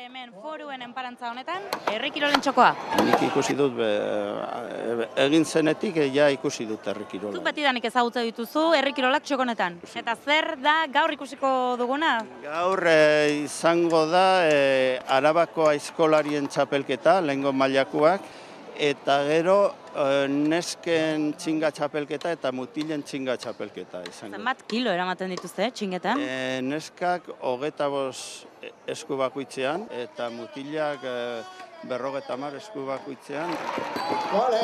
hemen foruen enparantza honetan, herri kirolen txokoa. Nik ikusi dut, egin zenetik ja ikusi dut herri kirola. Zuk betidanik ezagutza dituzu herri kirolak txokonetan. Eta zer da gaur ikusiko duguna? Gaur izango da Arabako aizkolarien txapelketa, lehengo mailakoak, eta gero nesken txinga txapelketa eta mutilen txinga txapelketa izango. Zenbat kilo eramaten dituzte txingetan? Neskak 25 esku bakoitzean eta mutilak 50 esku bakoitzean.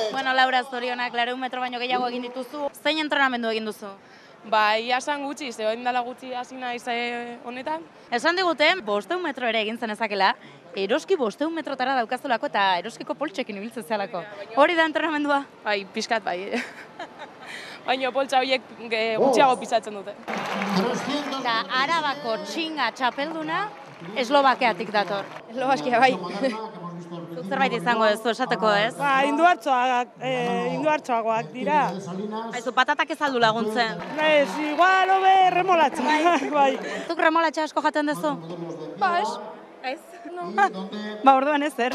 Bueno, Laura, zorionak, 100 metro baino gehiago egin dituzu. Zein entrenamendu egin duzu? Ia esan gutxi, ze orain dela gutxi hasi naiz honetan. Esan digute, 500 metro ere egin zen ezakela, eroski 500 metrotara daukazulako eta eroskiko poltsekin ibiltzen zehalako. Hori da entrenamendua? Bai, pixkat bai. Baina poltsa horiek gutxiago pisatzen dute. Eta Arabako txinga txapelduna Eslovakiatik dator. Eslovakia bai. Zuk zerbait izango ez du esateko, ez? Induartxoagoak dira. Aizu, patatak ez aldu laguntzen. Ez, igual hobe remolatxa. Bai. Zuk remolatxa asko jaten duzu? Ba, ez. Ez? Ba, orduan ez, zer?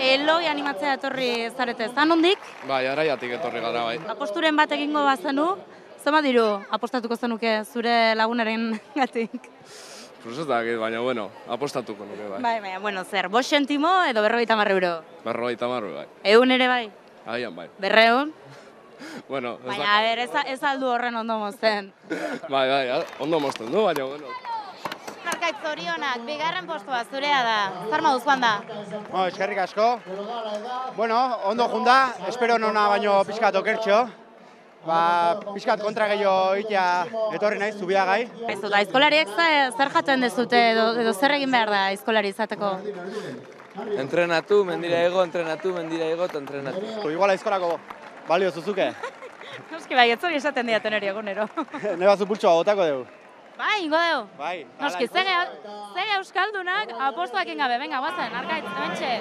Eloi animatzea etorri zarete, zan hondik? Bai, Araiatik etorri gara, bai. Aposturen bat egingo bazenu, zenbat diru apostatuko zenuke zure lagunaren gatik? Pues ez dakit, baina, bueno, apostatuko nuke, bai. Bai, bueno, zer, 5 zentimo edo 50 euro? 50 bai. 100 ere bai? Agian, bai. 200? Bueno, ez baina, a ber, ez aldu horren ondo mozten. Bai, ondo mozten du, baina, bueno. Arkaitz, zorionak, bigarren postua zurea da. Zer moduz joan da? Eskerrik asko. Bueno, ondo junda, espero nona baino pixkat okertxo. Pixkat kontra gehiago itea etorri naiz, zubiagai. Aizu, da, aizkolariek zer jaten dezute edo zer egin behar da aizkolari izateko? Entrenatu, mendira ego, eta entrenatu. Igual aizkolako balio zuzuke. Noski bai, ez hori esaten diaten hori egunero. Ne bazu pultsoa botako dugu. Bai, ingo dugu. Bai. Noski, zege euskaldunak apostuak ingabe, venga, guazen, Arkaitz, hementxe.